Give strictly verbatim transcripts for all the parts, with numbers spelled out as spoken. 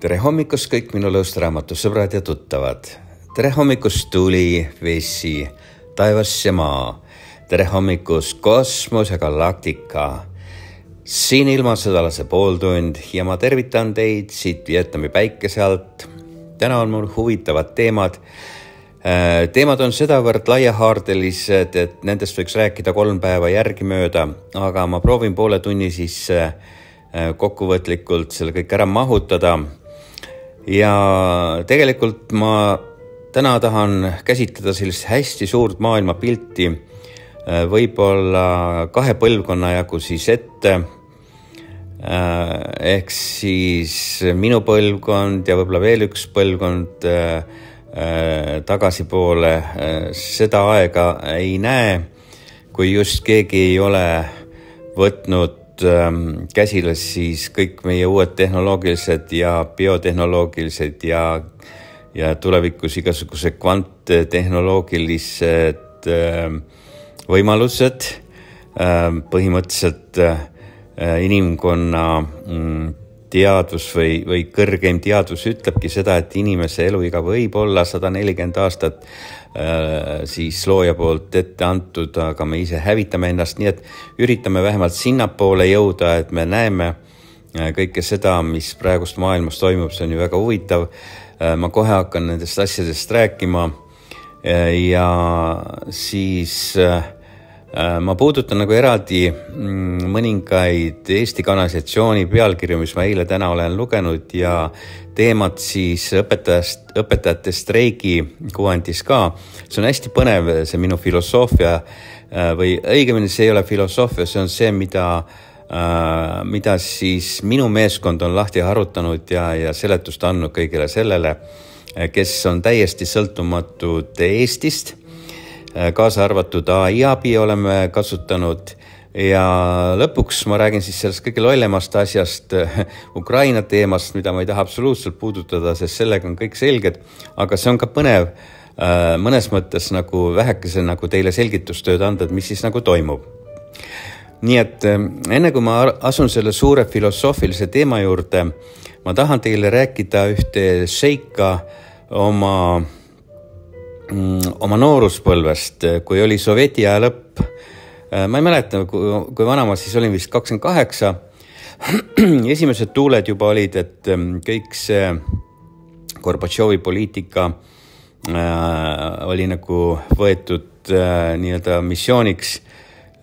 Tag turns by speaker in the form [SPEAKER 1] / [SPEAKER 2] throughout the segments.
[SPEAKER 1] Tere hommikust kõik minu lõõstraamatusõbrad ja tuttavad. Tere hommikust tuli, vesi, taevas ja maa. Tere hommikust kosmos ja galaktika. Siin ilmasõdalase pooltund ja ma tervitan teid siit Vietnami päikese alt. Täna on mul huvitavad teemad. Teemad on sedavõrd laiahaardelised, et nendest võiks rääkida kolm päeva järgi mööda, aga ma proovin poole tunni siis kokkuvõtlikult selle kõik ära mahutada. Ja tegelikult ma täna tahan käsitleda sellist hästi suurt maailma pilti, võib-olla kahe põlvkonna jagu siis ette, ehk siis minu põlvkond ja võib-olla veel üks põlvkond tagasi poole. Seda aega ei näe, kui just keegi ei ole võtnud käsile siis kõik meie uued tehnoloogilised ja biotehnoloogilised ja, ja tulevikus igasuguse kvanttehnoloogilised võimalused. Põhimõtteliselt inimkonna teadvus või, või kõrgeim teadvus ütlebki seda, et inimese eluiga võib olla sada nelikümmend aastat siis looja poolt ette antud, aga me ise hävitame ennast, nii et üritame vähemalt sinnapoole jõuda, et me näeme kõike seda, mis praegust maailmas toimub, see on ju väga huvitav. Ma kohe hakkan nendest asjadest rääkima ja siis ma puudutan nagu eraldi mõningaid Eesti kanalisatsiooni pealkirju, mis ma eile täna olen lugenud ja teemad siis õpetajast, õpetajate streigi kuvandis ka. See on hästi põnev, see minu filosoofia või õigemini see ei ole filosoofia, see on see, mida, mida siis minu meeskond on lahti harutanud ja, ja seletust andnud kõigile sellele, kes on täiesti sõltumatud Eestist. Kaasa arvatud A I abi oleme kasutanud ja lõpuks ma räägin siis sellest kõige lollemast asjast, Ukraina teemast, mida ma ei taha absoluutselt puudutada, sest sellega on kõik selged, aga see on ka põnev mõnes mõttes nagu vähekese nagu teile selgitustööd anda, et mis siis nagu toimub. Nii et enne kui ma asun selle suure filosoofilise teema juurde, ma tahan teile rääkida ühte seika oma oma nooruspõlvest, kui oli Sovjeti aja lõpp. Ma ei mäleta, kui vana ma siis olin vist kakskümmend kaheksa. Esimesed tuuled juba olid, et kõik see Gorbatšovi poliitika oli nagu võetud nii-öelda missiooniks.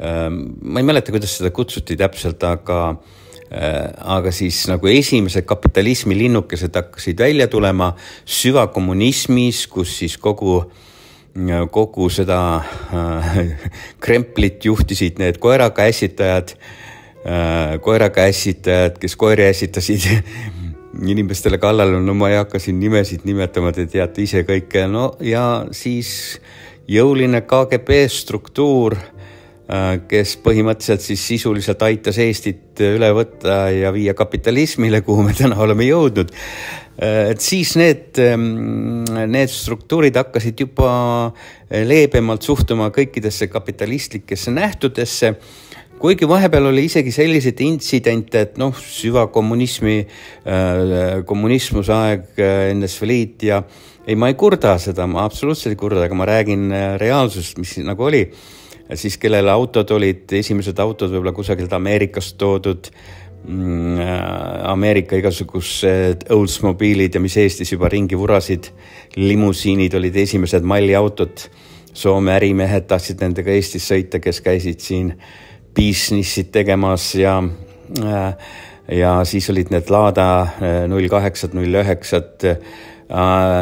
[SPEAKER 1] Ma ei mäleta, kuidas seda kutsuti täpselt, aga aga siis nagu esimesed kapitalismi linnukesed hakkasid välja tulema süvakommunismis, kus siis kogu, kogu seda kremplit juhtisid need koerakäsitajad, koerakäsitajad, kes koeri äsitasid inimestele kallal. No ma ei hakka siin nimesid nimetama, te teate ise kõike. No ja siis jõuline K G B struktuur, kes põhimõtteliselt siis sisuliselt aitas Eestit üle võtta ja viia kapitalismile, kuhu me täna oleme jõudnud. Et siis need, need struktuurid hakkasid juba leebemalt suhtuma kõikidesse kapitalistlikesse nähtudesse, kuigi vahepeal oli isegi sellised intsidente, et noh, süvakommunismi, kommunismuse aeg, N S V Liit ja ei, ma ei kurda seda, ma absoluutselt ei kurda, aga ma räägin reaalsust, mis nagu oli. Siis kellele autod olid, esimesed autod võib-olla kusagilt Ameerikast toodud, Ameerika igasugused Oldsmobiilid ja mis Eestis juba ringi vurasid, limusiinid olid esimesed malliautod, Soome ärimehed tahtsid nendega Eestis sõita, kes käisid siin businessid tegemas ja, ja siis olid need Lada null kaheksa, null üheksa,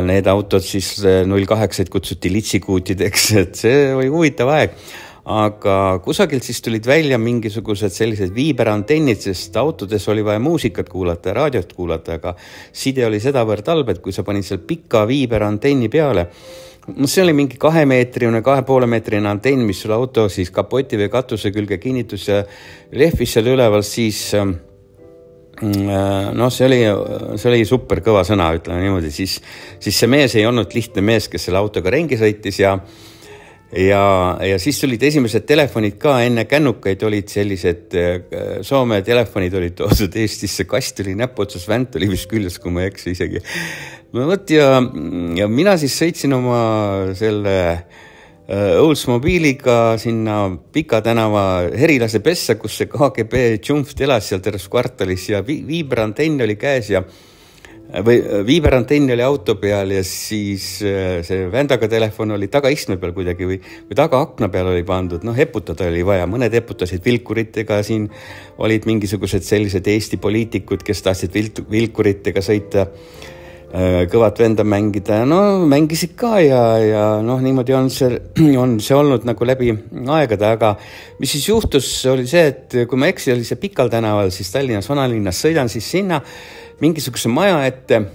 [SPEAKER 1] need autod siis null kaheksa kutsuti litsikuutideks, et see oli huvitav aeg. Aga kusagilt siis tulid välja mingisugused sellised viiberantennid, sest autodes oli vaja muusikat kuulata ja raadiot kuulata, aga side oli sedavõrd halb, et kui sa panid seal pika viiberantenni peale, see oli mingi kahemeetrine, kahe poole meetrine antenn, mis sul auto siis kapoti või katuse külge kinnitus ja lehvis seal üleval, siis no see oli, see oli super kõva sõna, ütleme niimoodi, siis, siis see mees ei olnud lihtne mees, kes selle autoga rengi sõitis ja ja, ja siis tulid esimesed telefonid ka, enne kännukaid olid sellised, Soome telefonid olid toodud Eestisse, kast oli näpuotsas, vänt oli vist küljes, kui ma ei eksi isegi. No võt ja, ja mina siis sõitsin oma selle Oldsmobiiliga sinna Pika tänava Herilase pessa, kus see K G B Tšumft elas seal terves kvartalis ja vi viiberantenn oli käes ja või viiberantenn oli auto peal ja siis see vändaga telefon oli tagaistme peal kuidagi või, või taga akna peal oli pandud. No heputada oli vaja, mõned heputasid vilkuritega, siin olid mingisugused sellised Eesti poliitikud, kes tahtsid vilkuritega sõita, kõvat venda mängida, no mängisid ka ja, ja noh, niimoodi on see, on see olnud nagu läbi aegade, aga mis siis juhtus, oli see, et kui ma eksi, oli see Pikal tänaval, siis Tallinnas vanalinnas sõidan siis sinna mingisuguse maja ette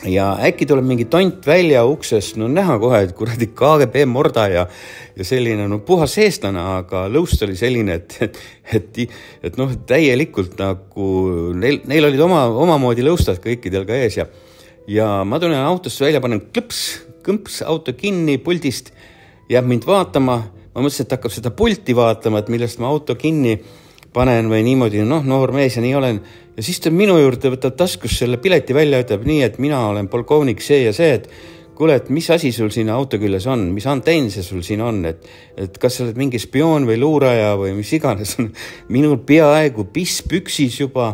[SPEAKER 1] ja äkki tuleb mingi tont välja uksest, no näha kohe, et kuradi K G B morda ja, ja selline no puhas eestlane, aga lõust oli selline, et, et, et, et noh, täielikult nagu neil, neil olid oma, omamoodi lõustad kõikidel ka ees ja, ja ma tulen autosse välja, panen klõps, kõmps auto kinni puldist, jääb mind vaatama, ma mõtlesin, et hakkab seda pulti vaatama, et millest ma auto kinni panen või niimoodi, noh, noor mees ja nii olen. Ja siis ta minu juurde võtab taskus selle pileti välja, ütleb nii, et mina olen polkovnik see ja see, et kuule, et mis asi sul siin auto küljes on, mis antenn see sul siin on, et, et kas sa oled mingi spioon või luuraja või mis iganes on. Minul peaaegu piss püksis juba,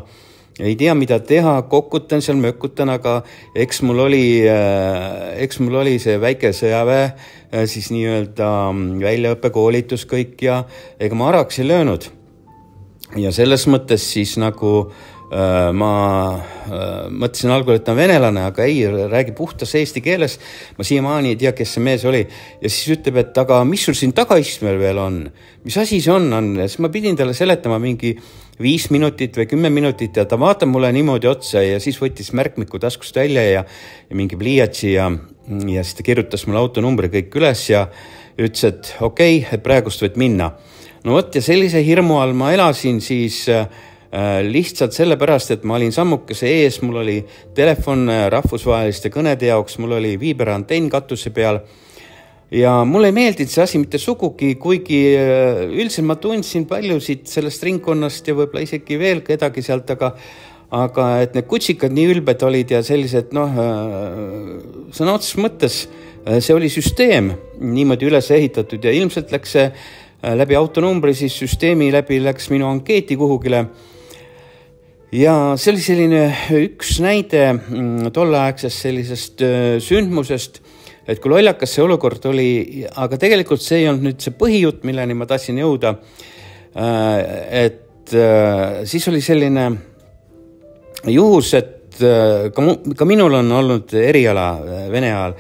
[SPEAKER 1] ei tea mida teha, kokutan seal, mökutan, aga eks mul oli, eks mul oli see väike sõjaväe, siis nii-öelda väljaõppe koolitus kõik ja ega ma araks ei löönud. Ja selles mõttes siis nagu äh, ma äh, mõtlesin algul, et ta on venelane, aga ei, räägi puhtas eesti keeles. Ma siiamaani ei tea, kes see mees oli. Ja siis ütleb, et aga mis sul siin tagaistmel veel on? Mis asi see on? on? Ja siis ma pidin talle seletama mingi viis minutit või kümme minutit ja ta vaatab mulle niimoodi otsa ja siis võttis märkmiku taskust välja ja, ja mingi pliiatsi ja, ja siis ta kirjutas mulle autonumbri kõik üles ja ütles, et okei, okay, praegust võid minna. No võt ja sellise hirmu all ma elasin siis äh, lihtsalt sellepärast, et ma olin sammukese ees, mul oli telefon rahvusvaheliste kõnede jaoks, mul oli viiberantenn katuse peal ja mulle ei meeldinud see asi mitte sugugi, kuigi äh, üldiselt ma tundsin paljusid sellest ringkonnast ja võib-olla isegi veel kedagi sealt, aga, aga et need kutsikad nii ülbed olid ja sellised, noh, äh, sõna otseses mõttes äh, see oli süsteem niimoodi üles ehitatud ja ilmselt läks see läbi autonumbri, siis süsteemi läbi läks minu ankeeti kuhugile. Ja see oli selline üks näide tolleaegsest sellisest sündmusest, et kui lollakas see olukord oli, aga tegelikult see ei olnud nüüd see põhijutt, milleni ma tahtsin jõuda. Et siis oli selline juhus, et ka, mu, ka minul on olnud eriala Vene ajal,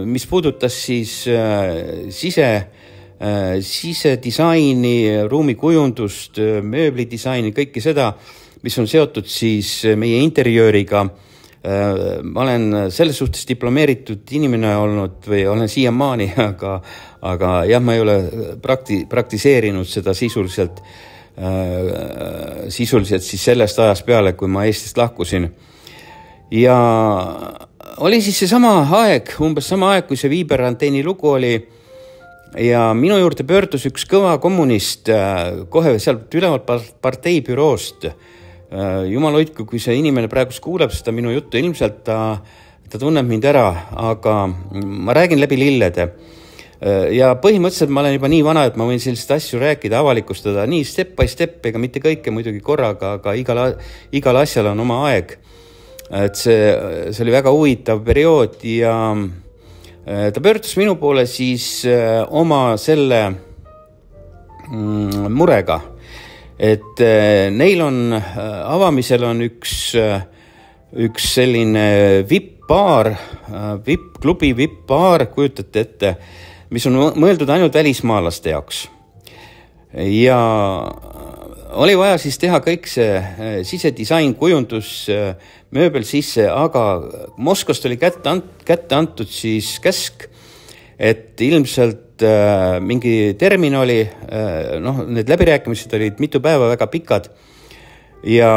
[SPEAKER 1] mis puudutas siis sise sisedisaini, ruumikujundust, mööblidisaini, kõike seda, mis on seotud siis meie interjööriga. Ma olen selles suhtes diplomeeritud inimene olnud või olen siiamaani, aga, aga jah, ma ei ole prakti, praktiseerinud seda sisuliselt, sisuliselt siis sellest ajast peale, kui ma Eestist lahkusin. Ja oli siis see sama aeg, umbes sama aeg, kui see viiberantenni lugu oli, ja minu juurde pöördus üks kõva kommunist kohe sealt ülevalt partei büroost. Jumal hoidku, kui see inimene praegu kuuleb seda minu juttu, ilmselt ta, ta tunneb mind ära, aga ma räägin läbi lillede. Ja põhimõtteliselt ma olen juba nii vana, et ma võin sellist asju rääkida, avalikustada nii step by step, ega mitte kõike muidugi korraga, aga igal, igal asjal on oma aeg. Et see, see oli väga huvitav periood ja ta pöördus minu poole siis oma selle murega, et neil on, avamisel on üks, üks selline V I P-baar, V I P-klubi V I P-baar, kujutate ette, mis on mõeldud ainult välismaalaste jaoks. Ja oli vaja siis teha kõik see sisedisain, kujundus, mööbel sisse, aga Moskvast oli kätte, ant, kätte antud siis käsk, et ilmselt äh, mingi terminali, äh, noh, need läbirääkimised olid mitu päeva väga pikad ja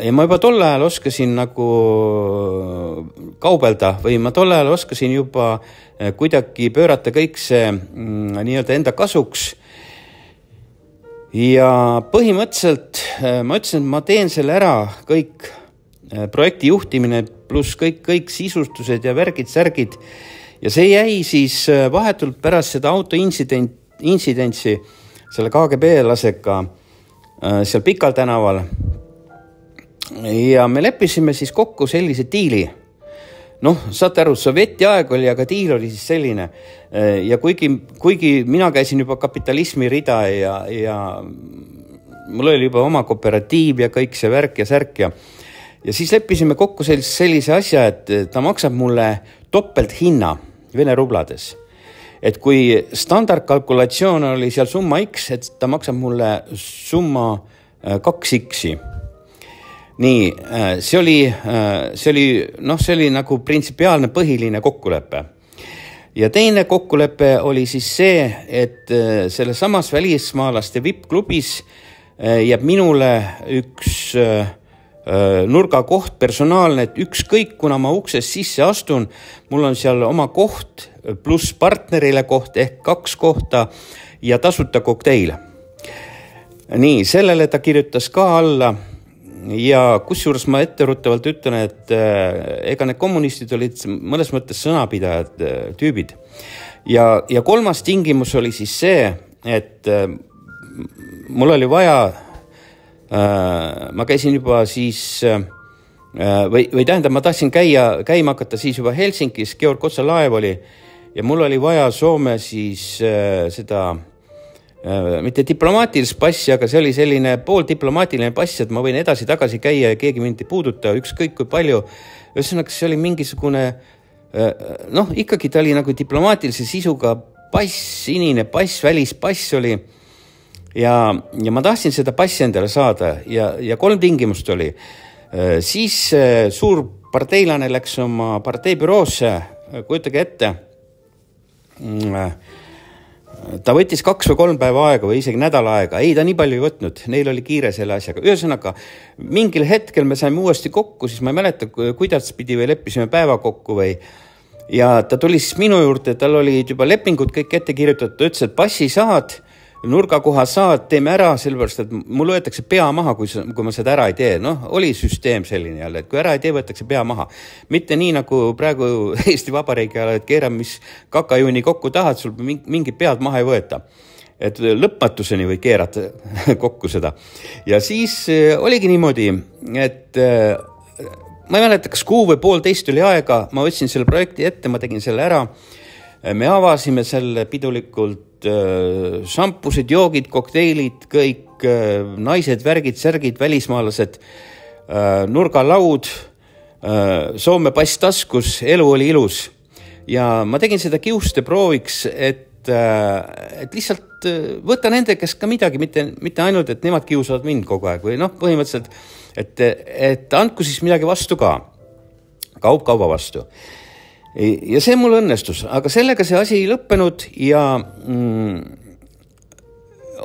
[SPEAKER 1] ja ma juba tol ajal oskasin nagu kaubelda või ma tol ajal oskasin juba kuidagi pöörata kõik see mm, nii-öelda enda kasuks. Ja põhimõtteliselt ma ütlesin, et ma teen selle ära kõik projekti juhtimine pluss kõik, kõik sisustused ja värgid, särgid. Ja see jäi siis vahetult pärast seda auto insident, insidentsi selle K G B lasega seal Pikal tänaval. Ja me leppisime siis kokku sellise diili. Noh, saate aru, sovjeti aeg oli, aga diil oli siis selline. Ja kuigi, kuigi mina käisin juba kapitalismi rida ja, ja mul oli juba oma kooperatiiv ja kõik see värk ja särk ja, ja siis leppisime kokku sellise, sellise asja, et ta maksab mulle topelt hinna Vene rublades. Et kui standardkalkulatsioon oli seal summa X, et ta maksab mulle summa kaks X-i. Nii, see oli, see oli, noh, see oli nagu printsipiaalne põhiline kokkulepe. Ja teine kokkulepe oli siis see, et selle samas välismaalaste V I P-klubis jääb minule üks nurgakoht personaalne, et ükskõik, kuna ma uksest sisse astun, mul on seal oma koht pluss partnerile koht ehk kaks kohta ja tasuta kokteil. Nii, sellele ta kirjutas ka alla. Ja kusjuures ma etteruttavalt ütlen, et ega need kommunistid olid mõnes mõttes sõnapidajad tüübid. Ja, ja kolmas tingimus oli siis see, et mul oli vaja, ma käisin juba siis, või, või tähendab, ma tahtsin käia, käima hakata siis juba Helsingis, Georg Kotsa laev oli, ja mul oli vaja Soome siis seda mitte diplomaatilist passi, aga see oli selline pooldiplomaatiline pass, et ma võin edasi tagasi käia ja keegi mind ei puuduta, ükskõik kui palju. Ühesõnaga, see oli mingisugune, noh, ikkagi ta oli nagu diplomaatilise sisuga pass, sinine pass, välispass oli. Ja, ja ma tahtsin seda passi endale saada ja, ja kolm tingimust oli. Siis suur parteilane läks oma parteibüroosse, kujutage ette, ta võttis kaks või kolm päeva aega või isegi nädala aega. Ei, ta nii palju ei võtnud. Neil oli kiire selle asjaga. Ühesõnaga, mingil hetkel me saime uuesti kokku, siis ma ei mäleta, kuidas pidi või leppisime päeva kokku või. Ja ta tuli siis minu juurde, tal oli juba lepingud kõik ette kirjutatud. Ta ütles, et passi saad, nurgakoha saad, teeme ära, sellepärast, et mul võetakse pea maha, kui, kui ma seda ära ei tee. Noh, oli süsteem selline jälle, et kui ära ei tee, võetakse pea maha. Mitte nii nagu praegu Eesti Vabariigi ajal, et keera, mis kakajuuni kokku tahad, sul mingi pead maha ei võeta. Et lõpmatuseni või keerata kokku seda. Ja siis oligi niimoodi, et ma ei mäleta, kas kuu või poolteist oli aega, ma võtsin selle projekti ette, ma tegin selle ära. Me avasime selle pidulikult šampused, joogid, kokteilid, kõik naised, värgid, särgid, välismaalased, nurgalaud, Soome pass taskus, elu oli ilus. Ja ma tegin seda kiuste prooviks, et, et lihtsalt võtta nende, kes ka midagi, mitte, mitte ainult, et nemad kiusavad mind kogu aeg või noh, põhimõtteliselt, et, et andku siis midagi vastu ka, kaup kauba vastu. Ja see mul õnnestus, aga sellega see asi ei lõppenud ja mm,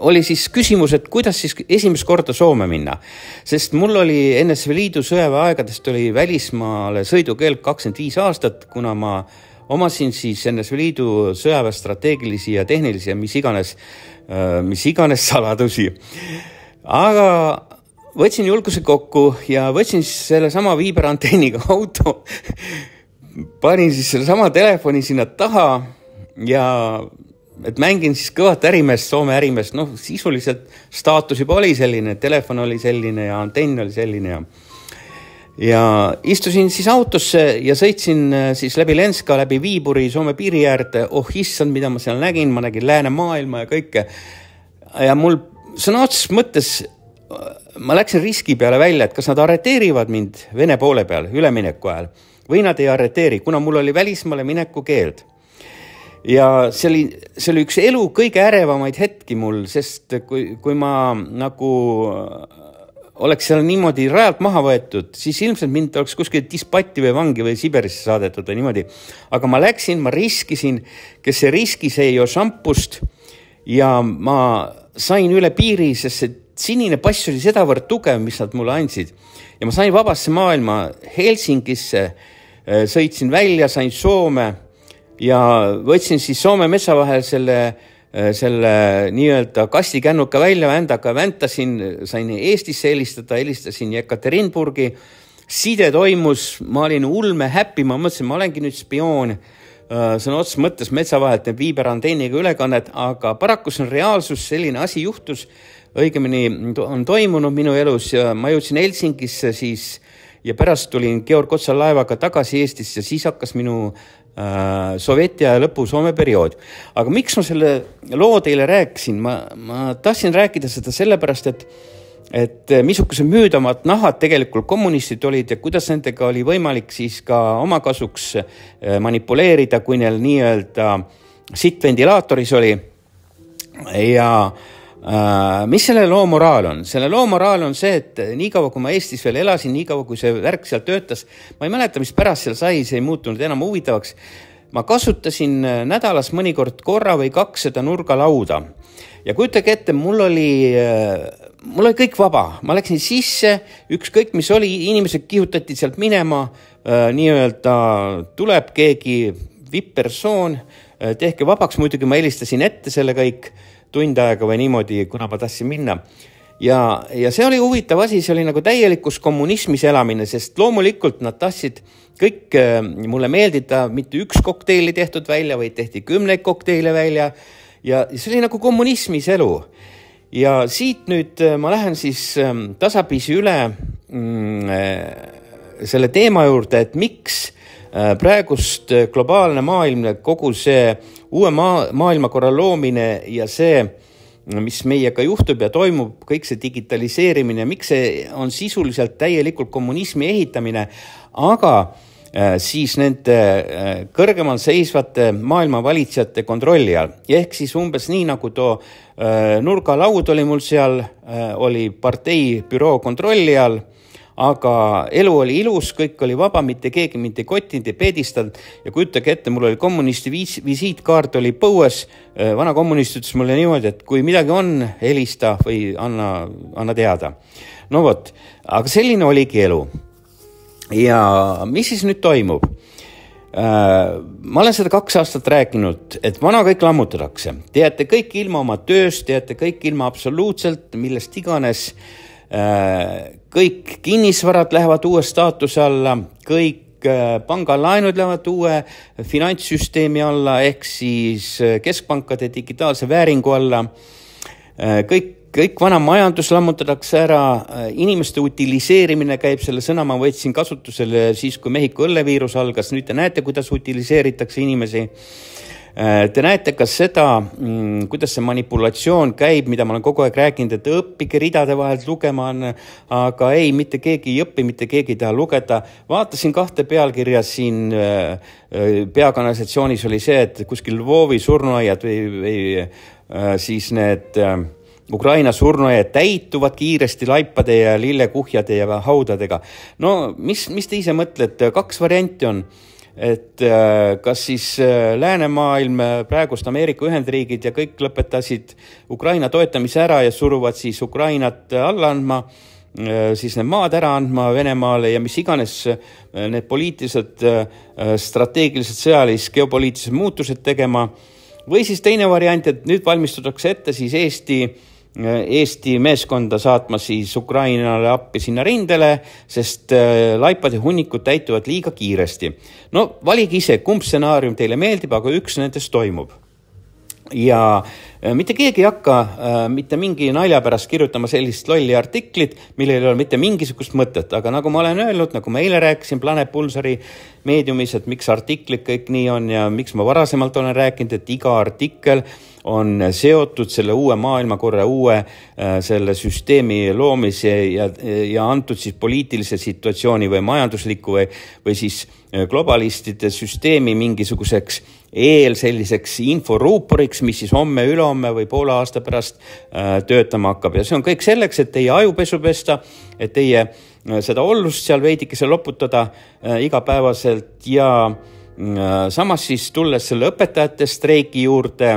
[SPEAKER 1] oli siis küsimus, et kuidas siis esimest korda Soome minna. Sest mul oli N S V Liidu sõjaväeaegadest oli välismaale sõidukeel kakskümmend viis aastat, kuna ma omasin siis N S V Liidu sõjaväe strateegilisi ja tehnilisi ja mis iganes, mis iganes saladusi. Aga võtsin julguse kokku ja võtsin selle sama viiberanteeniga auto, panin siis selle sama telefoni sinna taha ja et mängin siis kõvat ärimeest, Soome ärimeest, noh sisuliselt staatus juba oli selline, telefon oli selline ja antenn oli selline ja ja istusin siis autosse ja sõitsin siis läbi Lenska, läbi Viiburi, Soome piiri äärde, oh issand, mida ma seal nägin, ma nägin lääne maailma ja kõike ja mul sõna otseses mõttes ma läksin riski peale välja, et kas nad arreteerivad mind Vene poole peal ülemineku ajal või nad ei arreteeri, kuna mul oli välismaale mineku keeld. Ja see oli, see oli üks elu kõige ärevamaid hetki mul, sest kui, kui ma nagu oleks seal niimoodi rajalt maha võetud, siis ilmselt mind oleks kuskil dispatti või vangi või Siberisse saadetud või niimoodi. Aga ma läksin, ma riskisin, kes see riskis ei jo šampust ja ma sain üle piiri, sest see sinine pass oli sedavõrd tugev, mis nad mulle andsid. ja ma sain vabasse maailma Helsingisse, sõitsin välja, sain Soome ja võtsin siis Soome metsa vahel selle, selle nii-öelda kastikännuka välja, vändaka väntasin, sain Eestisse helistada, helistasin Jekaterinburgi, side toimus, ma olin ulme häppi, ma mõtlesin, ma olengi nüüd spioon, sõna otseses mõttes metsa vahelt need viiberantenniga ülekannet, aga paraku see on reaalsus, selline asi juhtus, õigemini on toimunud minu elus ja ma jõudsin Helsingisse siis ja pärast tulin Georg Otsal laevaga tagasi Eestisse ja siis hakkas minu äh, Sovjeti aja lõpu Soome periood. Aga miks ma selle loo teile rääkisin? Ma, ma tahtsin rääkida seda sellepärast, et et missugused müüdamad nahad tegelikult kommunistid olid ja kuidas nendega oli võimalik siis ka oma kasuks manipuleerida, kui neil nii-öelda sittvendilaatoris oli. Ja äh, mis selle loo moraal on? Selle loo moraal on see, et nii kaua, kui ma Eestis veel elasin, nii kaua, kui see värk seal töötas, ma ei mäleta, mis pärast seal sai, see ei muutunud enam huvitavaks. Ma kasutasin nädalas mõnikord korra või kaks seda nurgalauda. Ja kujutage ette, mul oli, mul oli kõik vaba. Ma läksin sisse, ükskõik mis oli, inimesed kihutati sealt minema, nii-öelda tuleb keegi vipp-persoon, tehke vabaks, muidugi ma helistasin ette selle kõik tund aega või niimoodi, kuna ma tahtsin minna. Ja, ja see oli huvitav asi, see oli nagu täielikus kommunismis elamine, sest loomulikult nad tahtsid kõik mulle meeldida, mitte üks kokteili tehtud välja, või tehti kümneid kokteile välja. Ja see oli nagu kommunismis elu. Ja siit nüüd ma lähen siis tasapisi üle selle teema juurde, et miks praegust globaalne maailm, kogu see uue maa, maailmakorra loomine ja see, mis meiega juhtub ja toimub, kõik see digitaliseerimine, miks see on sisuliselt täielikult kommunismi ehitamine, aga siis nende kõrgemal seisvate maailma valitsejate kontrolli all. Ehk siis umbes nii, nagu too nurgalaud oli mul seal, oli partei büroo kontrolli all, aga elu oli ilus, kõik oli vaba, mitte keegi mitte kotinud ja peedistanud ja kujutage ette, mul oli kommunisti visiitkaart oli põues, vana kommunist ütles mulle niimoodi, et kui midagi on, helista või anna, anna teada. No vot, aga selline oligi elu. Ja mis siis nüüd toimub? Ma olen seda kaks aastat rääkinud, et vana kõik lammutatakse. Teate kõik ilma oma tööst, teate kõik ilma absoluutselt, millest iganes. Kõik kinnisvarad lähevad uue staatuse alla, kõik pangalaenud lähevad uue finantssüsteemi alla, ehk siis keskpankade digitaalse vääringu alla. Kõik Kõik vana majandus lammutatakse ära, inimeste utiliseerimine käib, selle sõna ma võtsin kasutusele siis, kui Mehhiko õlleviirus algas, nüüd te näete, kuidas utiliseeritakse inimesi. Te näete ka seda, kuidas see manipulatsioon käib, mida ma olen kogu aeg rääkinud, et õppige ridade vahelt lugema on, aga ei, mitte keegi ei õppi, mitte keegi ei taha lugeda. Vaatasin kahte pealkirja siin peakanalisatsioonis oli see, et kuskil Lvovi surnuaiad või, või siis need Ukraina surnuaiad täituvad kiiresti laipade ja lillekuhjade ja haudadega. No mis, mis te ise mõtlete? Kaks varianti on, et kas siis läänemaailm, praegust Ameerika Ühendriigid ja kõik lõpetasid Ukraina toetamise ära ja suruvad siis Ukrainat alla andma, siis need maad ära andma Venemaale ja mis iganes need poliitilised, strateegilised sõjalis, geopoliitilised muutused tegema. Või siis teine variant, et nüüd valmistutakse ette siis Eesti Eesti meeskonda saatma siis Ukrainale appi sinna rindele, sest laipad ja hunnikud täituvad liiga kiiresti. No valige ise, kumb stsenaarium teile meeldib, aga üks nendest toimub. Ja mitte keegi ei hakka mitte mingi nalja pärast kirjutama sellist lolli artiklit, millel ei ole mitte mingisugust mõtet, aga nagu ma olen öelnud, nagu ma eile rääkisin Planet Pulsari meediumis, et miks artiklid kõik nii on ja miks ma varasemalt olen rääkinud, et iga artikkel on seotud selle uue maailmakorra, uue selle süsteemi loomise ja, ja antud siis poliitilise situatsiooni või majandusliku või, või siis globalistide süsteemi mingisuguseks eel selliseks inforuuporiks, mis siis homme, ülehomme või poole aasta pärast töötama hakkab. Ja see on kõik selleks, et teie ajupesu pesta, et teie seda ollust seal veidikese loputada igapäevaselt ja samas siis tulles selle õpetajate streiki juurde,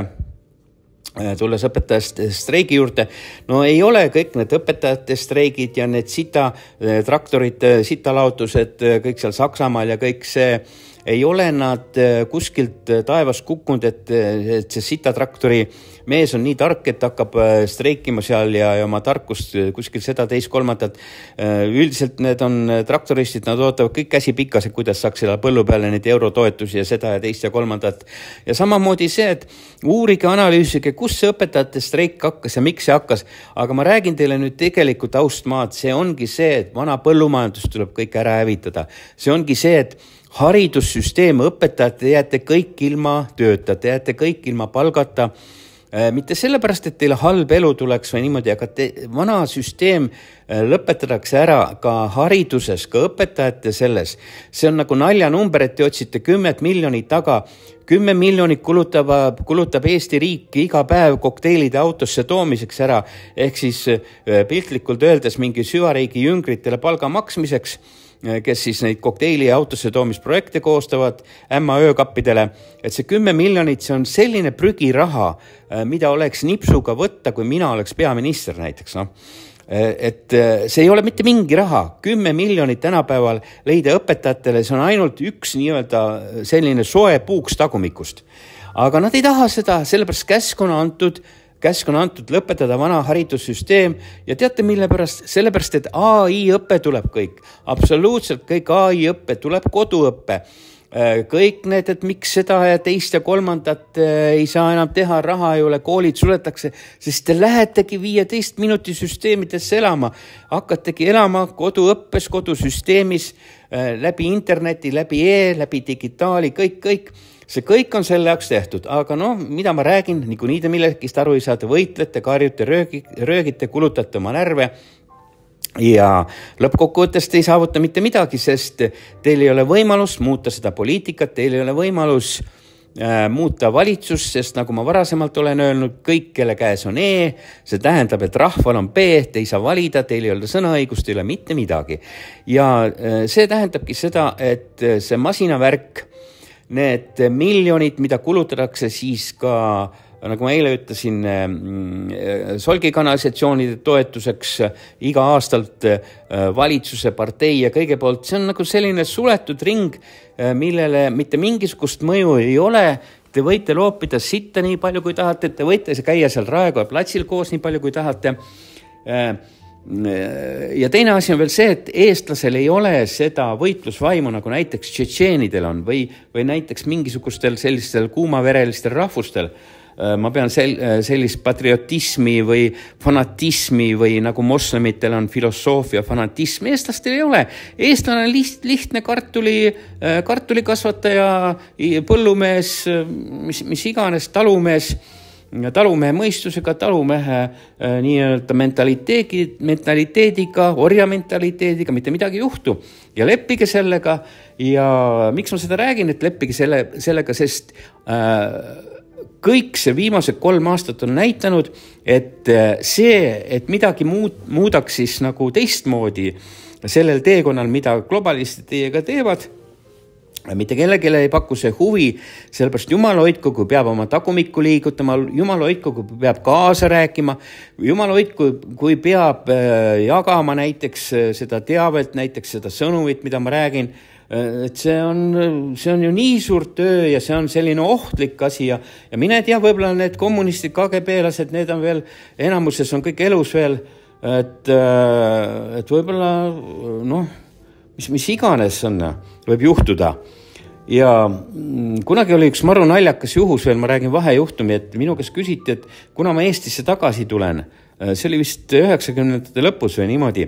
[SPEAKER 1] tulles õpetajate streigi juurde, no ei ole kõik need õpetajate streigid ja need sita traktorid, sitalaotused, kõik seal Saksamaal ja kõik see, ei ole nad kuskilt taevast kukkunud, et, et see sitatraktori mees on nii tark, et hakkab streikima seal ja, ja oma tarkust kuskil seda teist kolmandat. Üldiselt need on traktoristid, nad ootavad kõik käsi pikas, et kuidas saaks selle põllu peale neid eurotoetusi ja seda ja teist ja kolmandat. Ja samamoodi see, et uurige, analüüsige, kus see õpetajate streik hakkas ja miks see hakkas. Aga ma räägin teile nüüd tegelikult austmaad, see ongi see, et vana põllumajandus tuleb kõik ära hävitada. See ongi see, et haridussüsteem, õpetajad, te jääte kõik ilma tööta, te jääte kõik ilma palgata. Mitte sellepärast, et teile halb elu tuleks või niimoodi, aga te, vana süsteem lõpetatakse ära ka hariduses, ka õpetajate selles. See on nagu naljanumber, et te otsite kümmet miljonit taga. Kümme miljonit kulutab, kulutab Eesti riik iga päev kokteilide autosse toomiseks ära, ehk siis piltlikult öeldes mingi süvariigi jüngritele palga maksmiseks, kes siis neid kokteili ja autosse toomisprojekte koostavad ämma öökappidele, et see kümme miljonit, see on selline prügiraha, mida oleks nipsuga võtta, kui mina oleks peaminister näiteks. No? Et see ei ole mitte mingi raha, kümme miljonit tänapäeval leida õpetajatele, see on ainult üks nii-öelda selline soe puuks tagumikust. Aga nad ei taha seda, sellepärast käsk on antud, käsk on antud lõpetada vana haridussüsteem ja teate mille pärast? Sellepärast, et A I õppe tuleb kõik. Absoluutselt kõik A I õppe tuleb koduõppe. Kõik need, et miks seda ja teist ja kolmandat ei saa enam teha, raha ei ole, koolid suletakse, sest te lähetegi viieteist minuti süsteemidesse elama. Hakkategi elama koduõppes, kodusüsteemis, läbi interneti, läbi e, läbi digitaali, kõik, kõik. See kõik on selle jaoks tehtud, aga no, mida ma räägin, nagu nii te millekist aru ei saa, te võitlete, karjute, röögite, kulutate oma närve ja lõppkokkuvõttes te ei saavuta mitte midagi, sest teil ei ole võimalus muuta seda poliitikat, teil ei ole võimalus äh, muuta valitsust, sest nagu ma varasemalt olen öelnud, kõik, kelle käes on E, see tähendab, et rahval on B, te ei saa valida, teil ei ole sõnaõigust, ei ole mitte midagi. Ja äh, see tähendabki seda, et see masinavärk, need miljonid, mida kulutatakse siis ka, nagu ma eile ütlesin, solgikanalisatsioonide toetuseks iga aastalt valitsuse, partei ja kõige poolt, see on nagu selline suletud ring, millele mitte mingisugust mõju ei ole. Te võite loopida sitta nii palju, kui tahate, te võite käia seal Raekoja platsil koos nii palju, kui tahate. Ja teine asi on veel see, et eestlasel ei ole seda võitlusvaimu, nagu näiteks tšetšeenidel on või, või näiteks mingisugustel sellistel kuumaverelistel rahvustel. Ma pean sel, sellist patriotismi või fanatismi või nagu moslemitel on filosoofia fanatism. Eestlastel ei ole. Eestlane on liht, lihtne kartuli, kartulikasvataja, põllumees, mis, mis iganes talumees, talumehe mõistusega, talumehe äh, nii-öelda mentaliteedi, mentaliteediga, orja mentaliteediga, mitte midagi juhtu. Ja leppige sellega ja miks ma seda räägin, et leppige selle, sellega, sest äh, kõik see viimased kolm aastat on näitanud, et äh, see, et midagi muud, muudaks siis nagu teistmoodi sellel teekonnal, mida globalistid teiega teevad, mitte kellelegi ei paku see huvi, sellepärast Jumal hoidku, kui peab oma tagumikku liigutama, Jumal hoidku, kui peab kaasa rääkima, Jumal hoidku, kui peab jagama näiteks seda teavet, näiteks seda sõnumit, mida ma räägin, et see on, see on ju nii suur töö ja see on selline ohtlik asi ja, ja mine tea, võib-olla need kommunistid, K G B-lased, need on veel, enamuses on kõik elus veel, et, et võib-olla, noh, mis, mis iganes on, võib juhtuda. Ja kunagi oli üks maru naljakas juhus veel, ma räägin vahejuhtumi, et minu käest küsiti, et kuna ma Eestisse tagasi tulen, see oli vist üheksakümnendate lõpus või niimoodi,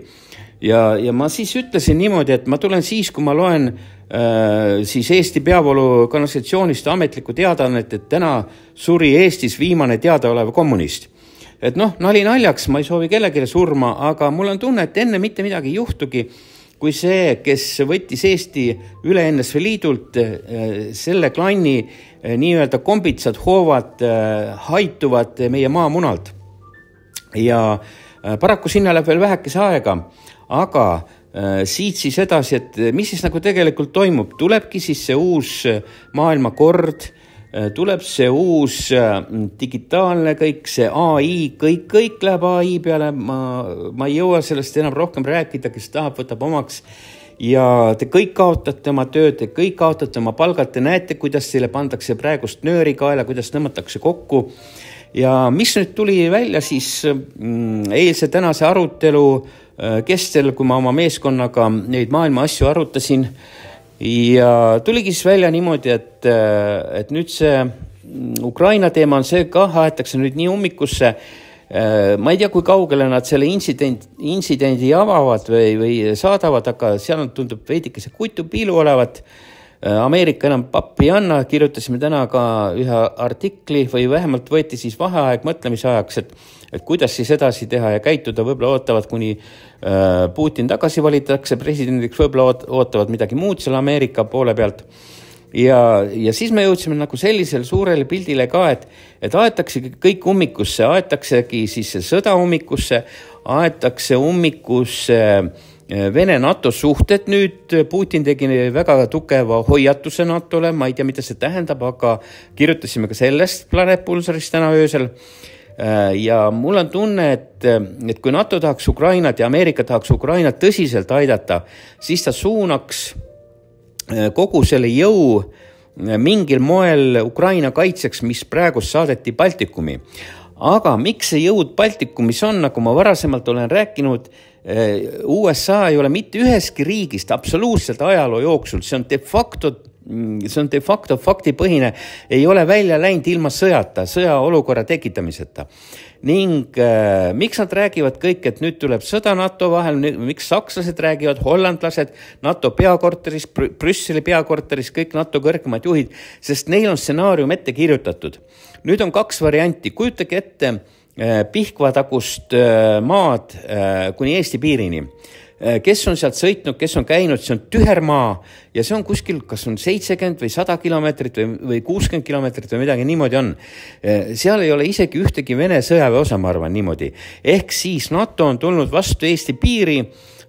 [SPEAKER 1] ja, ja ma siis ütlesin niimoodi, et ma tulen siis, kui ma loen äh, siis Eesti peavoolu kanalisatsioonist ametlikku teadaannet, et täna suri Eestis viimane teadaolev kommunist. Et noh, nali naljaks, ma ei soovi kellelegi surma, aga mul on tunne, et enne mitte midagi ei juhtugi, kui see, kes võttis Eesti üle N S V Liidult, selle klanni nii-öelda kombitsad hoovad haituvad meie maamunalt. Ja paraku sinna läheb veel vähekese aega, aga siit siis edasi, et mis siis nagu tegelikult toimub, tulebki siis see uus maailmakord, tuleb see uus digitaalne kõik, see A I, kõik, kõik läheb A I peale, ma, ma ei jõua sellest enam rohkem rääkida, kes tahab, võtab omaks ja te kõik kaotate oma tööd, te kõik kaotate oma palgad, te näete, kuidas teile pandakse praegust nööri kaela, kuidas tõmmatakse kokku ja mis nüüd tuli välja siis mm, eilse tänase arutelu kestel, kui ma oma meeskonnaga neid maailma asju arutasin ja tuligi siis välja niimoodi, et, et nüüd see Ukraina teema on see ka, aetakse nüüd nii ummikusse. Ma ei tea, kui kaugele nad selle insident, insidendi avavad või, või saadavad, aga seal tundub veidike see kutu piilu olevat. Ameerika enam pappi ei anna, kirjutasime täna ka ühe artikli või vähemalt võeti siis vaheaeg mõtlemise ajaks, et, et kuidas siis edasi teha ja käituda, võib-olla ootavad, kuni äh, Putin tagasi valitakse presidendiks, võib-olla ootavad midagi muud selle Ameerika poole pealt. Ja, ja siis me jõudsime nagu sellisel suurele pildile ka, et, et aetakse kõik ummikusse, aetaksegi siis sõda ummikusse, aetakse ummikusse Vene NATO suhted nüüd, Putin tegi väga tugeva hoiatuse NATOle, ma ei tea, mida see tähendab, aga kirjutasime ka sellest Planet Pulsarist täna öösel. Ja mul on tunne, et, et kui NATO tahaks Ukrainat ja Ameerika tahaks Ukrainat tõsiselt aidata, siis ta suunaks kogu selle jõu mingil moel Ukraina kaitseks, mis praegu saadeti Baltikumi. Aga miks see jõud Baltikumis on, nagu ma varasemalt olen rääkinud, U S A ei ole mitte üheski riigist absoluutselt ajaloo jooksul, see on de facto, see on de facto faktipõhine, ei ole välja läinud ilma sõjata, sõjaolukorra tekitamiseta. Ning äh, miks nad räägivad kõik, et nüüd tuleb sõda NATO vahel, miks sakslased räägivad, hollandlased, NATO peakorteris, Brüsseli peakorteris, kõik NATO kõrgemad juhid, sest neil on stsenaarium ette kirjutatud. Nüüd on kaks varianti, kujutage ette äh, Pihkvatagust äh, maad äh, kuni Eesti piirini. Kes on sealt sõitnud, kes on käinud, see on tüher maa ja see on kuskil, kas on seitsekümmend või sada kilomeetrit või, või kuuskümmend kilomeetrit või midagi niimoodi on. Seal ei ole isegi ühtegi Vene sõjaväe osa, ma arvan niimoodi. Ehk siis NATO on tulnud vastu Eesti piiri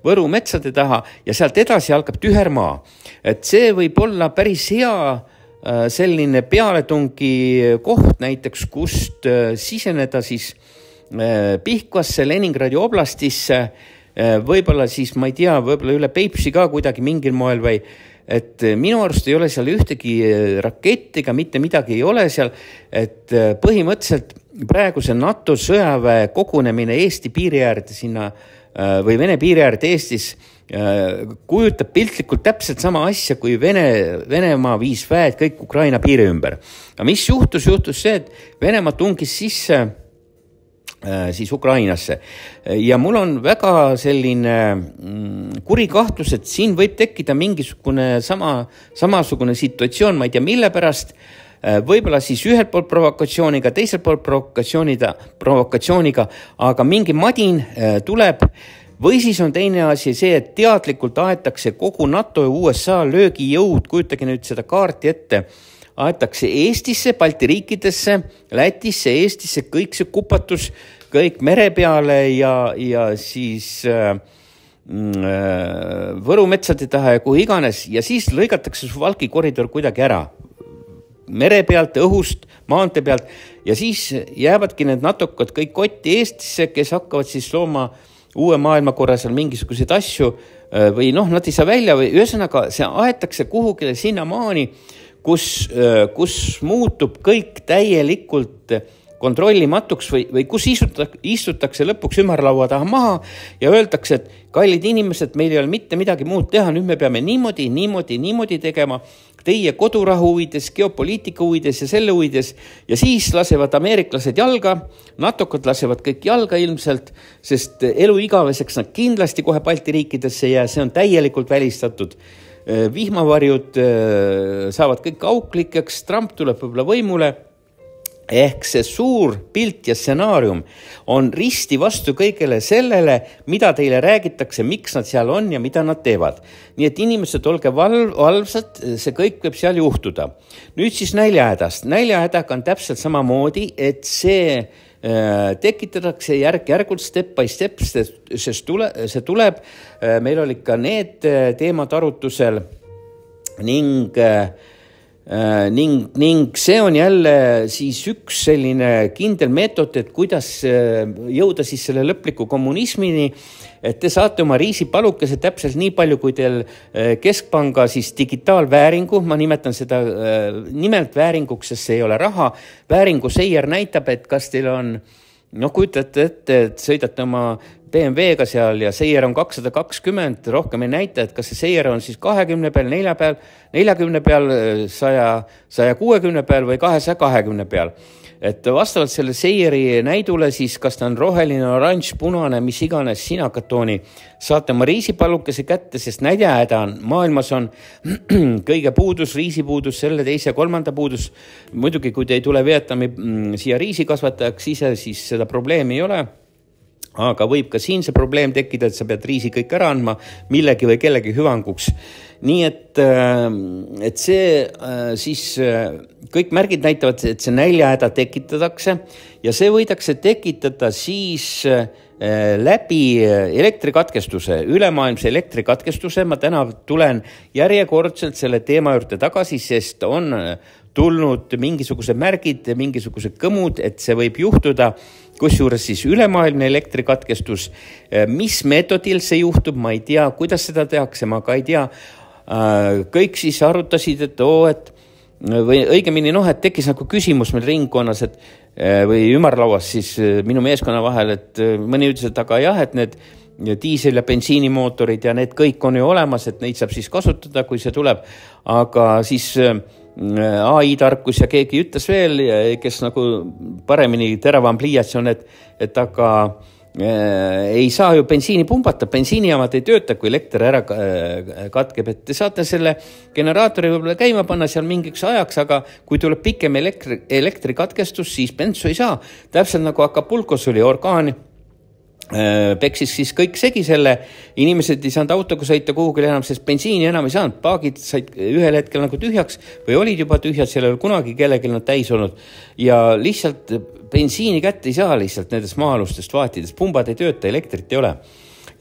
[SPEAKER 1] Võru metsade taha ja sealt edasi algab tüher maa. Et see võib olla päris hea selline pealetungi koht näiteks, kust siseneda siis Pihkvasse, Leningradi oblastisse, võib-olla siis, ma ei tea, võib-olla üle Peipsi ka kuidagi mingil moel või, et minu arust ei ole seal ühtegi rakettiga, mitte midagi ei ole seal, et põhimõtteliselt praegu see NATO sõjaväe kogunemine Eesti piiri äärde sinna või Vene piiri äärde Eestis kujutab piltlikult täpselt sama asja, kui Vene, Venemaa viis väed kõik Ukraina piiri ümber. Aga mis juhtus? Juhtus see, et Venemaa tungis sisse siis Ukrainasse. Ja mul on väga selline kuri kahtlus, et siin võib tekkida mingisugune sama, samasugune situatsioon, ma ei tea mille pärast, võib-olla siis ühelt poolt provokatsiooniga, teiselt poolt provokatsiooniga, provokatsiooniga, aga mingi madin tuleb, või siis on teine asi see, et teadlikult aetakse kogu NATO ja U S A löögijõud, kujutage nüüd seda kaarti ette, aetakse Eestisse, Balti riikidesse, Lätisse, Eestisse, kõik see kupatus, kõik mere peale ja, ja siis äh, Võru metsade taha ja kuhu iganes ja siis lõigatakse su Valki koridor kuidagi ära. Mere pealt, õhust, maante pealt ja siis jäävadki need natokad kõik kotti Eestisse, kes hakkavad siis looma uue maailmakorra seal mingisuguseid asju või noh, nad ei saa välja või ühesõnaga see aetakse kuhugile sinna maani, kus, kus muutub kõik täielikult kontrollimatuks või, või kus istutakse, istutakse lõpuks ümarlaua taha maha ja öeldakse, et kallid inimesed, meil ei ole mitte midagi muud teha, nüüd me peame niimoodi, niimoodi, niimoodi tegema teie kodurahu huvides, geopoliitika huvides ja selle huvides ja siis lasevad ameeriklased jalga, natokad lasevad kõik jalga ilmselt, sest elu igaveseks nad kindlasti kohe Balti riikidesse ja see on täielikult välistatud. Vihmavarjud saavad kõik auklikeks, Trump tuleb võib-olla võimule, ehk see suur pilt ja stsenaarium on risti vastu kõigele sellele, mida teile räägitakse, miks nad seal on ja mida nad teevad. Nii et inimesed, olge valv, valvsad, see kõik võib seal juhtuda. Nüüd siis näljahädast. Näljahädaga on täpselt samamoodi, et see äh, tekitatakse järk-järgult step by step, sest tule, see tuleb. Äh, meil olid ka need teemad arutusel ning äh, ning, ning see on jälle siis üks selline kindel meetod, et kuidas jõuda siis selle lõpliku kommunismini, et te saate oma riisipalukese täpselt nii palju, kui teil keskpanga siis digitaalvääringu, ma nimetan seda nimelt vääringuks, sest see ei ole raha, vääringu seier näitab, et kas teil on, no kujutate ette, et sõidate oma B M W-ga seal ja seier on kakssada kakskümmend, rohkem ei näita, et kas see seier on siis kahekümne peal, nelja peal, neljakümne peal, saja kuuekümne peal või kahesaja kahekümne peal. Et vastavalt selle seieri näidule siis, kas ta on roheline, oranž, punane, mis iganes sinakatooni, saate oma riisipallukese kätte, sest näljahäda on, maailmas on kõige puudus, riisipuudus, selle teise kolmanda puudus. Muidugi, kui te ei tule Vietnami siia riisikasvatajaks ise, siis seda probleemi ei ole. Aga võib ka siin see probleem tekkida, et sa pead riisi kõik ära andma millegi või kellegi hüvanguks. Nii et, et see siis kõik märgid näitavad, et see näljahäda tekitatakse ja see võidakse tekitada siis läbi elektrikatkestuse, ülemaailmse elektrikatkestuse. Ma täna tulen järjekordselt selle teema juurde tagasi, sest on tulnud mingisugused märgid, mingisugused kõmud, et see võib juhtuda, kusjuures siis ülemaailmne elektrikatkestus. Mis meetodil see juhtub, ma ei tea, kuidas seda tehakse, ma ka ei tea. Kõik siis arutasid, et oo, et või õigemini noh, et tekkis nagu küsimus meil ringkonnas, et või ümarlauas siis minu meeskonna vahel, et mõni ütles, et aga jah, et need diisel- ja bensiinimootorid ja need kõik on ju olemas, et neid saab siis kasutada, kui see tuleb, aga siis A I-tarkus ja keegi ütles veel, kes nagu paremini teravam pliiats on, et, et aga ei saa ju bensiini pumbata, bensiinijaamad ei tööta, kui elekter ära katkeb, et te saate selle generaatori võib-olla käima panna seal mingiks ajaks, aga kui tuleb pikem elektri, elektrikatkestus, siis bensu ei saa. Täpselt nagu Acapulcos oli orkaan, peksis siis kõik segi selle, inimesed ei saanud autoga sõita kuhugile enam, sest bensiini enam ei saanud, paagid said ühel hetkel nagu tühjaks või olid juba tühjad, seal ei ole kunagi kellelgi nad täis olnud ja lihtsalt bensiini kätte ei saa lihtsalt nendest maa-alustest vaatidest, pumbad ei tööta, elektrit ei ole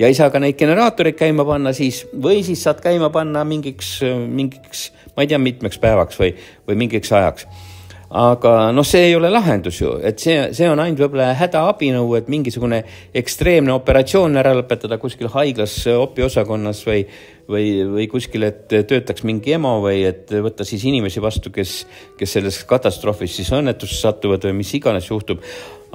[SPEAKER 1] ja ei saa ka neid generaatoreid käima panna siis või siis saad käima panna mingiks, mingiks ma ei tea, mitmeks päevaks või, või mingiks ajaks. Aga no see ei ole lahendus ju, et see, see on ainult võib-olla hädaabinõu, et mingisugune ekstreemne operatsioon ära lõpetada kuskil haiglas opiosakonnas või, või, või kuskil, et töötaks mingi emo või et võtta siis inimesi vastu, kes, kes selles katastroofis siis õnnetusse satuvad või mis iganes juhtub.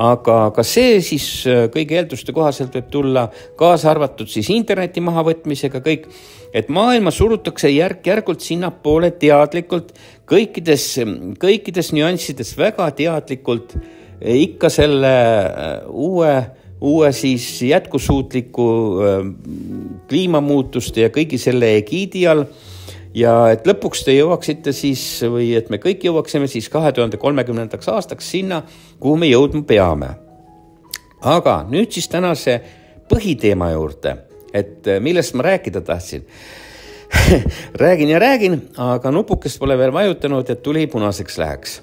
[SPEAKER 1] Aga ka see siis kõigi eelduste kohaselt võib tulla kaasa arvatud siis interneti mahavõtmisega kõik, et maailma surutakse järk-järgult sinnapoole teadlikult kõikides, kõikides nüanssides väga teadlikult ikka selle uue, uue siis jätkusuutliku kliimamuutuste ja kõigi selle egiidi all. Ja et lõpuks te jõuaksite siis, või et me kõik jõuaksime siis kahe tuhande kolmekümnendaks aastaks sinna, kuhu me jõudma peame. Aga nüüd siis tänase põhiteema juurde, et millest ma rääkida tahtsin. räägin ja räägin, aga nupukest pole veel vajutanud, et tuli punaseks läheks.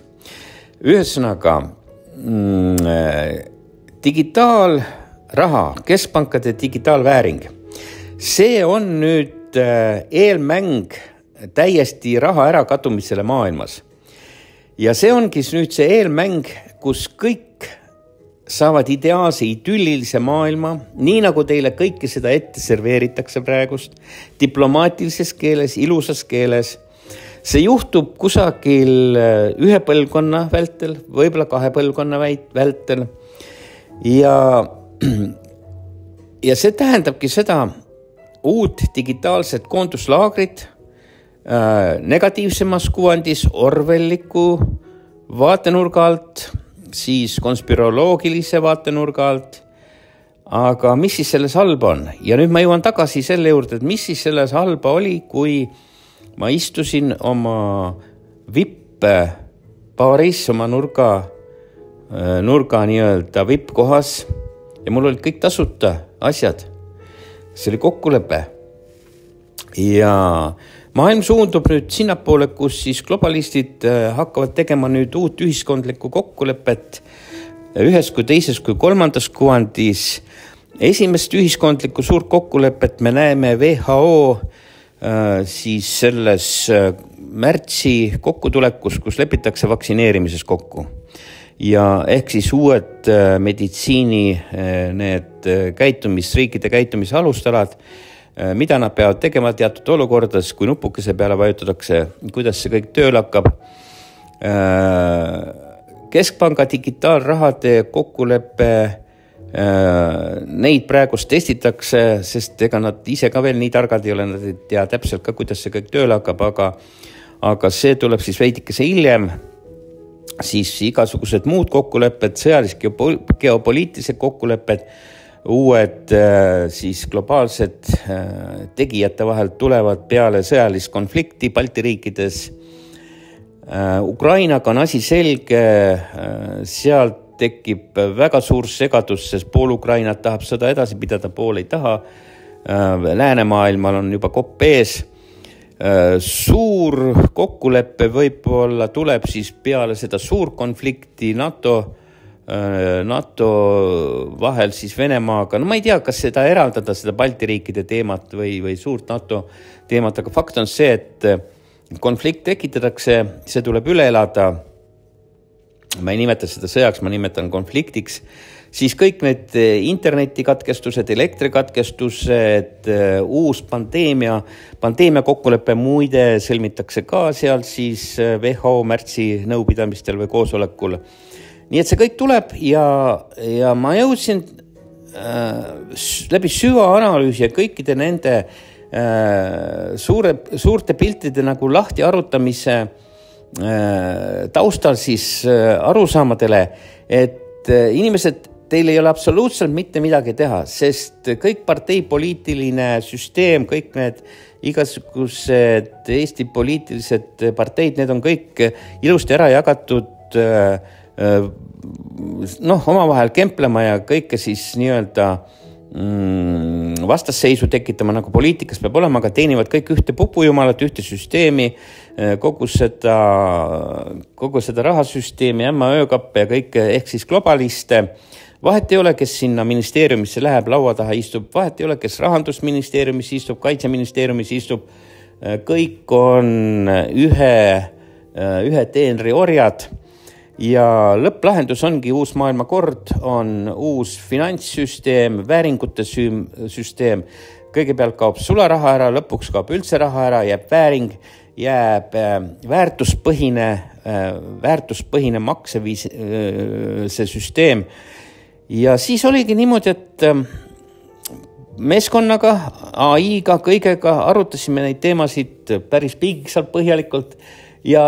[SPEAKER 1] Ühesõnaga, mm, digitaalraha, keskpankade digitaalvääring, see on nüüd eelmäng täiesti raha ära kadumisele maailmas. Ja see ongi nüüd see eelmäng, kus kõik saavad ideaalse idüllilise maailma, nii nagu teile kõike seda ette serveeritakse praegust, diplomaatilises keeles, ilusas keeles. See juhtub kusagil ühe põlvkonna vältel, võib-olla kahe põlvkonna vältel. Ja, ja see tähendabki seda uut digitaalset koonduslaagrit äh, negatiivsemas kuvandis orwelliku vaatenurga alt, siis konspiroloogilise vaatenurga alt. Aga mis siis selles halba on? Ja nüüd ma jõuan tagasi selle juurde, et mis siis selles halba oli, kui ma istusin oma vippe baaris, oma nurga, nurga nii-öelda vippkohas ja mul olid kõik tasuta asjad. See oli kokkulepe. Ja maailm suundub nüüd sinnapoole, kus siis globalistid hakkavad tegema nüüd uut ühiskondlikku kokkulepet ühes kui teises kui kolmandas kuvandis. Esimest ühiskondlikku suurt kokkulepet me näeme W H O siis selles märtsi kokkutulekus, kus lepitakse vaktsineerimises kokku. Ja ehk siis uued meditsiini need käitumis, riikide käitumise alustalad, mida nad peavad tegema teatud olukordades, kui nupukese peale vajutatakse, kuidas see kõik tööl hakkab. Keskpanga digitaalrahade kokkuleppe, neid praegust testitakse, sest ega nad ise ka veel nii targad ei ole, nad ei tea täpselt ka, kuidas see kõik tööl hakkab, aga, aga see tuleb siis veidikese hiljem. Siis igasugused muud kokkulepped, sõjalised geopoliitilised kokkulepped, uued siis globaalsed tegijate vahel tulevad peale sõjalist konflikti Balti riikides. Ukrainaga on asi selge, sealt tekib väga suur segadus, sest pool Ukrainat tahab sõda edasi pidada, pool ei taha. Läänemaailmal on juba kopp ees. Suur kokkuleppe võib-olla tuleb siis peale seda suur konflikti NATO, NATO vahel siis Venemaaga. No ma ei tea, kas seda eraldada, seda Balti riikide teemat või, või suurt NATO teemat, aga fakt on see, et konflikt tekitatakse, see tuleb üle elada. Ma ei nimeta seda sõjaks, ma nimetan konfliktiks. Siis kõik need internetikatkestused, elektrikatkestused, uus pandeemia, pandeemia kokkulepe muide sõlmitakse ka seal siis W H O märtsi nõupidamistel või koosolekul. Nii et see kõik tuleb ja, ja ma jõudsin äh, läbi süvaanalüüsi ja kõikide nende äh, suure, suurte piltide nagu lahti arutamise äh, taustal siis äh, arusaamadele, et äh, inimesed, teil ei ole absoluutselt mitte midagi teha, sest kõik parteipoliitiline süsteem, kõik need igasugused Eesti poliitilised parteid, need on kõik ilusti ära jagatud noh, omavahel kemplema ja kõike siis nii-öelda vastasseisu tekitama, nagu poliitikas peab olema, aga teenivad kõik ühte pupujumalat, ühte süsteemi, kogu seda, kogu seda rahasüsteemi, ämma öökappe ja kõike, ehk siis globaliste. Vahet ei ole, kes sinna ministeeriumisse läheb, laua taha istub, vahet ei ole, kes rahandusministeeriumis istub, kaitseministeeriumis istub, kõik on ühe, ühe teenri orjad ja lõpplahendus ongi uus maailmakord, on uus finantssüsteem, vääringute süsteem, kõigepealt kaob sularaha ära, lõpuks kaob üldse raha ära, jääb vääring, jääb väärtuspõhine, väärtuspõhine makseviis, see süsteem. Ja siis oligi niimoodi, et meeskonnaga, A I-ga, kõigega arutasime neid teemasid päris piigiksalt põhjalikult ja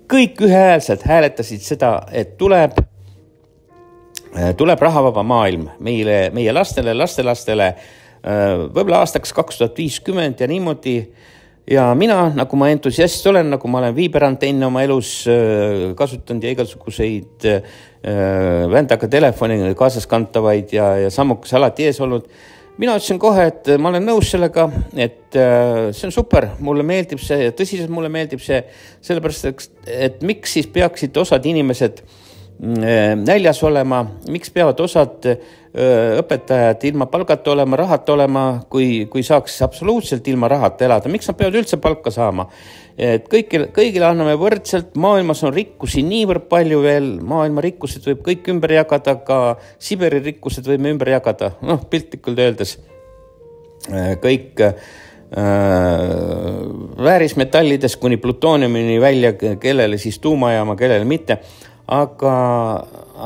[SPEAKER 1] kõik ühehäälselt hääletasid seda, et tuleb, tuleb rahavaba maailm meile, meie lastele, lastelastele, võib-olla aastaks kaks tuhat viiskümmend ja niimoodi. Ja mina, nagu ma entusiast olen, nagu ma olen viiberantenne oma elus kasutanud ja igasuguseid vändaga telefoni kaasas kantavaid ja, ja sammukas alati ees olnud. Mina ütlesin kohe, et ma olen nõus sellega, et see on super, mulle meeldib see ja tõsiselt mulle meeldib see, sellepärast, et, et miks siis peaksid osad inimesed näljas olema, miks peavad osad õpetajad ilma palgata olema, rahat olema, kui, kui saaks absoluutselt ilma rahat elada, miks nad peavad üldse palka saama? Et kõigile, kõigile anname võrdselt, maailmas on rikkusi niivõrd palju veel, maailma rikkused võib kõik ümber jagada, ka Siberi rikkused võime ümber jagada, noh, piltlikult öeldes kõik äh, väärismetallidest kuni plutooniumini välja, kellele siis tuumajaama, kellele mitte. Aga,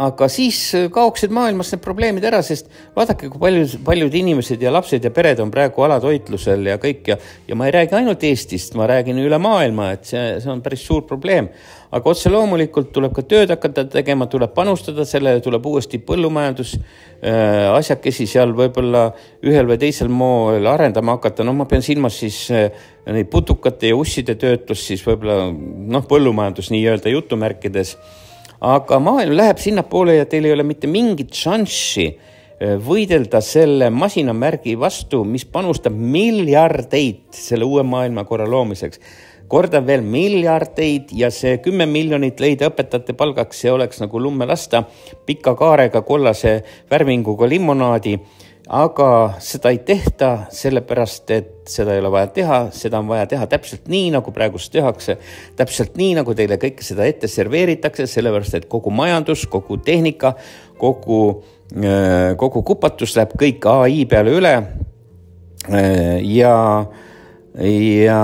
[SPEAKER 1] aga siis kaoksid maailmas need probleemid ära, sest vaadake, kui paljud, paljud inimesed ja lapsed ja pered on praegu alatoitlusel ja kõik ja, ja ma ei räägi ainult Eestist, ma räägin üle maailma, et see, see on päris suur probleem. Aga otse loomulikult tuleb ka tööd hakata tegema, tuleb panustada sellele, tuleb uuesti põllumajandus äh, asjakesi seal võib-olla ühel või teisel moel arendama hakata. No ma pean silmas siis äh, neid putukate ja usside töötlus, siis võib-olla noh, põllumajandus nii-öelda jutumärkides. Aga maailm läheb sinna poole ja teil ei ole mitte mingit šanssi võidelda selle masinamärgi vastu, mis panustab miljardeid selle uue maailmakorra loomiseks. Kordan veel miljardeid ja see kümme miljonit leida õpetajate palgaks, see oleks nagu lumme lasta pika kaarega kollase värvinguga limonaadi. aga seda ei tehta sellepärast, et seda ei ole vaja teha, seda on vaja teha täpselt nii, nagu praegust tehakse, täpselt nii, nagu teile kõike seda ette serveeritakse, sellepärast, et kogu majandus, kogu tehnika, kogu, kogu kupatus läheb kõik A I peale üle ja ja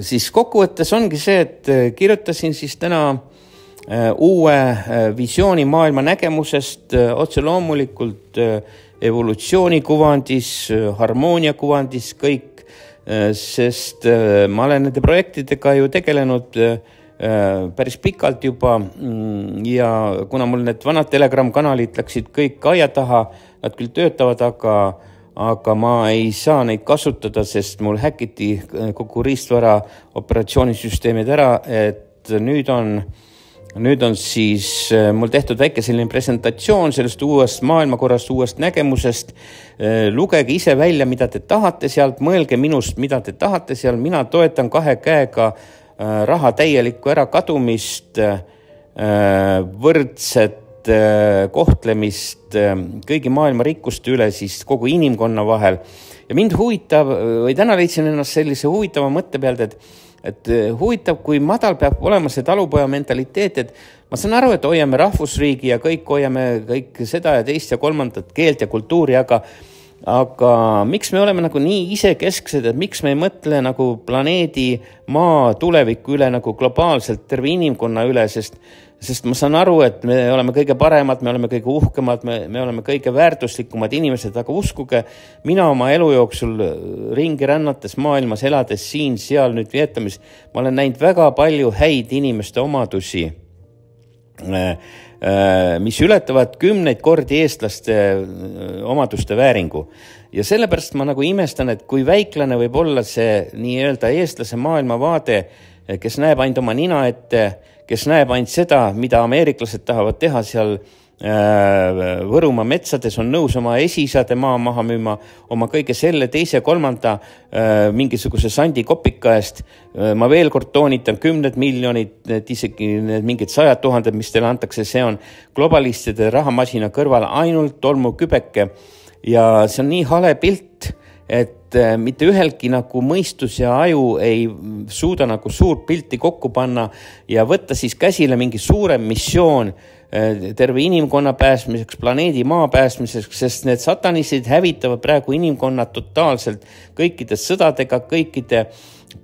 [SPEAKER 1] siis kokkuvõttes ongi see, et kirjutasin siis täna uue visiooni maailma nägemusest otse loomulikult evolutsiooni kuvandis, harmoonia kuvandis kõik, sest ma olen nende projektidega ju tegelenud päris pikalt juba ja kuna mul need vanad Telegram kanalid läksid kõik aia taha, nad küll töötavad, aga aga ma ei saa neid kasutada, sest mul häkiti kogu riistvara operatsioonisüsteemid ära, et nüüd on, nüüd on siis mul tehtud väike selline presentatsioon sellest uuest maailmakorrast, uuest nägemusest. Lugege ise välja, mida te tahate sealt, mõelge minust, mida te tahate seal. Mina toetan kahe käega raha täielikku ära kadumist, võrdset kohtlemist kõigi maailma rikkuste üle siis kogu inimkonna vahel. Ja mind huvitab, või täna leidsin ennast sellise huvitava mõtte pealt, et, et huvitav, kui madal peab olema see talupoja mentaliteet, et ma saan aru, et hoiame rahvusriigi ja kõik hoiame kõik seda ja teist ja kolmandat keelt ja kultuuri, aga aga miks me oleme nagu nii isekesksed, et miks me ei mõtle nagu planeedi maa tuleviku üle nagu globaalselt terve inimkonna üle, sest Sest ma saan aru, et me oleme kõige paremad, me oleme kõige uhkemad, me, me oleme kõige väärtuslikumad inimesed, aga uskuge, mina oma elu jooksul ringi rännates maailmas, elades siin, seal nüüd Vietnamis, ma olen näinud väga palju häid inimeste omadusi, mis ületavad kümneid kordi eestlaste omaduste vääringu. Ja sellepärast ma nagu imestan, et kui väiklane võib olla see nii-öelda eestlase maailmavaade, kes näeb ainult oma nina ette, kes näeb ainult seda, mida ameeriklased tahavad teha seal Võrumaa metsades, on nõus oma esiisade maa maha müüma, oma kõige selle teise kolmanda mingisuguse sandi kopika eest. Ma veel kord toonitan kümned miljonid, et isegi mingid sajad tuhanded, mis teile antakse, see on globalistide rahamasina kõrval ainult tolmu kübeke. Ja see on nii hale pilt, et mitte ühelgi nagu mõistus ja aju ei suuda nagu suurt pilti kokku panna ja võtta siis käsile mingi suurem missioon terve inimkonna pääsmiseks, planeedi maa pääsmiseks, sest need satanisid hävitavad praegu inimkonna totaalselt kõikide sõdadega, kõikide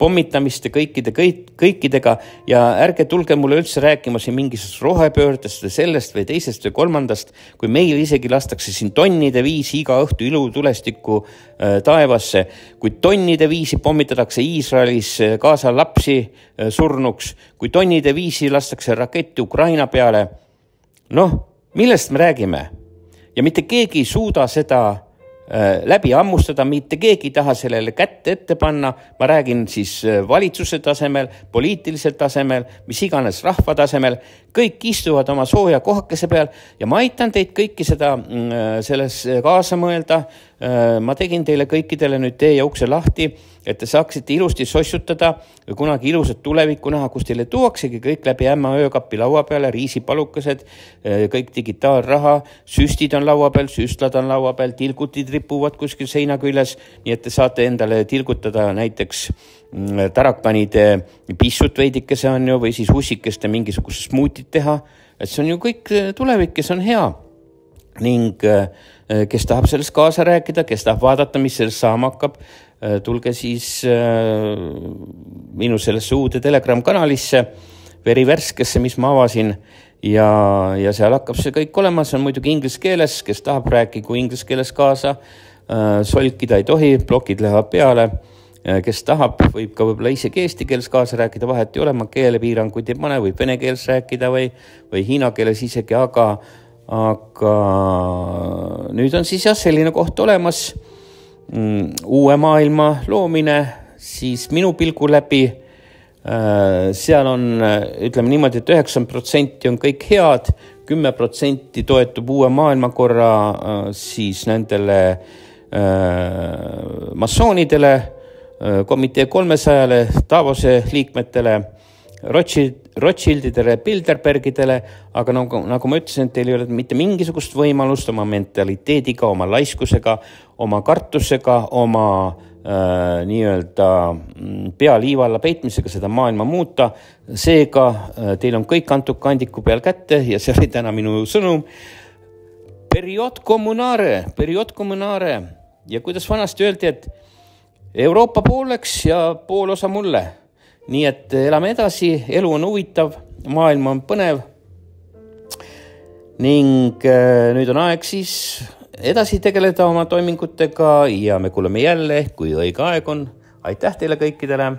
[SPEAKER 1] pommitamiste, kõikide, kõik, kõikidega ja ärge tulge mulle üldse rääkima siin mingisugust rohepöördest või sellest või teisest või kolmandast, kui meil isegi lastakse siin tonnide viisi iga õhtu ilutulestikku äh, taevasse, kui tonnide viisi pommitatakse Iisraelis kaasa lapsi äh, surnuks, kui tonnide viisi lastakse raketti Ukraina peale, noh, millest me räägime? Ja mitte keegi ei suuda seda läbi ammustada, mitte keegi ei taha sellele kätte ette panna, ma räägin siis valitsuse tasemel, poliitilisel tasemel, mis iganes rahva tasemel, kõik istuvad oma sooja kohakese peal ja ma aitan teid kõiki seda selles kaasa mõelda. Ma tegin teile kõikidele nüüd tee ja ukse lahti, et te saaksite ilusti sossutada ja kunagi ilusat tulevikku näha, kus teile tuuaksegi kõik läbi ämma öökapi laua peale, riisipalukesed, kõik digitaalraha, süstid on laua peal, süstlad on laua peal, tilgutid ripuvad kuskil seina küljes, nii et te saate endale tilgutada näiteks tarakanide pissut veidikese on ju, või siis ussikeste mingisugust smuutit teha, et see on ju kõik tulevik, kes on hea. Ning kes tahab sellest kaasa rääkida, kes tahab vaadata, mis sellest saama hakkab, tulge siis minu sellesse uude Telegram kanalisse, verivärskesse, mis ma avasin ja, ja seal hakkab see kõik olema, see on muidugi inglise keeles, kes tahab rääkigu inglise keeles kaasa, solkida ei tohi, blokid lähevad peale, kes tahab, võib ka võib-olla isegi eesti keeles kaasa rääkida, vahet ei ole, ma keelepiiranguid ei pane, võib vene keeles rääkida või, või hiina keeles isegi, aga aga nüüd on siis jah selline koht olemas, uue maailma loomine, siis minu pilgu läbi, seal on, ütleme niimoodi, et üheksakümmend protsenti on kõik head, kümme protsenti toetub uue maailmakorra siis nendele massoonidele, komitee kolmesajale, Davose liikmetele Rothschild, Rothschildidele, Bilderbergidele, aga nagu, nagu ma ütlesin, et teil ei ole mitte mingisugust võimalust oma mentaliteediga, oma laiskusega, oma kartusega, oma äh, nii-öelda pea liiva alla peitmisega seda maailma muuta. Seega äh, teil on kõik antud kandiku peal kätte ja see oli täna minu sõnum. Period communare, period communare ja kuidas vanasti öeldi, et Euroopa pooleks ja pool osa mulle. Nii et elame edasi, elu on huvitav, maailm on põnev ning nüüd on aeg siis edasi tegeleda oma toimingutega ja me kuuleme jälle, kui õige aeg on. Aitäh teile kõikidele!